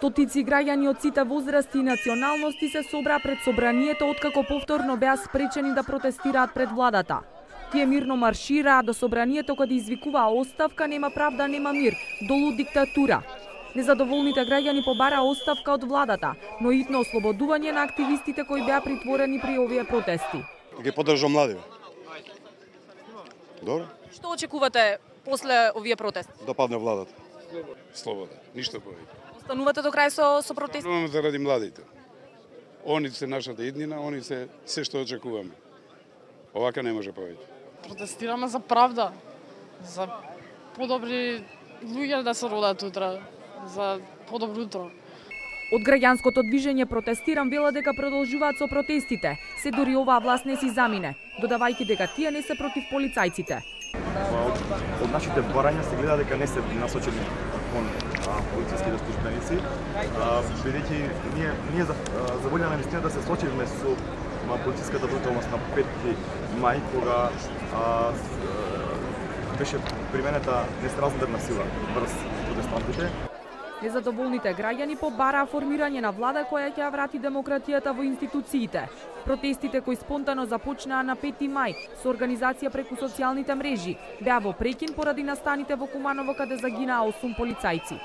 Стотици граѓани од сите возрасти и националности се собра пред собранието откако повторно беа спречени да протестираат пред владата. Тие мирно маршираа до собранието каде извикуваа оставка, нема правда, нема мир, долу диктатура. Незадоволните граѓани побараа оставка од владата, но итно ослободување на активистите кои беа притворени при овие протести. Ги поддржам млади. Добро? Што очекувате после овие протести? Да падне владата. Слобода, ништо повеќе. Останувате до крај со протести? Остануваме заради младите. Они се нашата иднина, они се што очекуваме. Овака не може повеќе. Протестираме за правда, за подобри луѓе да се родат утре, за подобро утро. Од граѓанското движење Протестирам вела дека продолжуваат со протестите, се дури оваа власт не си замине, додавајќи дека тие не се против полицајците. Од нашите барања се гледа дека не се насочени кон полициските службеници, бидејќи ние за волја на вистина да се случивме со полициската бруталност на 5 мај, кога беше применета несразмерна сила врз протестантите. Незадоволните граѓани побараа формирање на влада која ќе ја врати демократијата во институциите. Протестите кои спонтано започнаа на 5 мај со организација преку социјалните мрежи беа во прекин поради настаните во Куманово каде загинаа 8 полицајци.